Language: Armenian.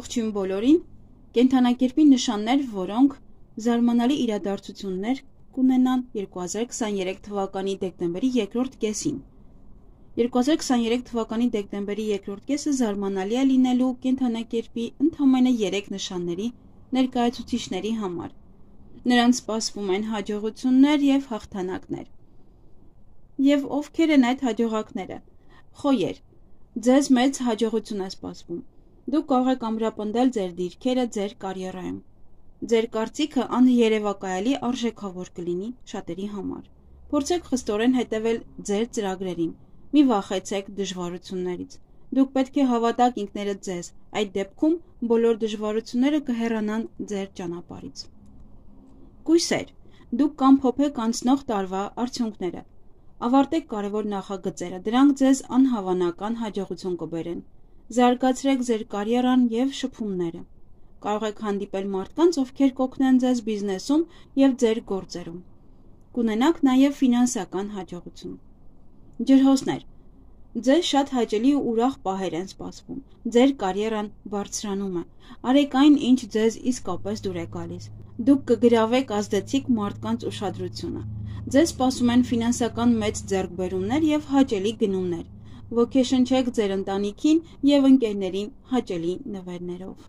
Ողջույն բոլորին, կենդանակերպի նշաններ, որոնք զարմանալի իրադարձություններ կունենան 2023 թվականի դեկտեմբերի երկրորդ կեսին։ 2023 թվականի դեկտեմբերի երկրորդ կեսը զարմանալի է լինելու կենդանակերպի ընդամենը 3 նշանների ներկայացուցիչների համար։ Նրանց սպասվում են հաջողություններ և հաղթանակներ։ Եվ ովքեր են այդ հաջողակները։ Խոյեր, ձեզ մեծ հաջողություն է սպասվում։ Դուք կարող եք ամրապնդել ձեր դիրքերը ձեր կարիերայում։ Ձեր կարծիքը աներևակայալի արժեքավոր կլինի շատերի համար։ Փորձեք խստորեն հետևել ձեր ծրագրերին։ Մի վախեցեք դժվարություններից։ Դուք պետք է հավատաք ինքներդ ձեզ, այդ դեպքում բոլոր դժվարությունները կհեռանան ձեր ճանապարհից։ Կույսեր, դուք կամփոփեք անցնող տարվա արդյունքները։ Ավարտեք կարևոր նախագծերը, դրանք ձեզ անհավանական հաջողություն կբերեն։ Զարգացրեք ձեր կարիերան և շփումները։ Կարող եք հանդիպել մարդկանց, ովքեր կօգնեն ձեզ բիզնեսում և ձեր գործերում։ Կունենաք նաև ֆինանսական հաջողություն։ Ջրհոսներ, ձեզ շատ հաճելի ու ուրախ պահեր են սպասվում։ Ձեր կարիերան բարձրանում է։ Արեք այն, ինչ ձեզ իսկապես դուր է գալիս։ Դուք կգրավեք ազդեցիկ մարդկանց ուշադրությունը։ Ձեզ սպասում են ֆինանսական մեծ ձեռքբերումներ և հաճելի գնումներ։ Ոգեշնչեք ձեր ընտանիքին և ընկերներին հաճելի նվերներով։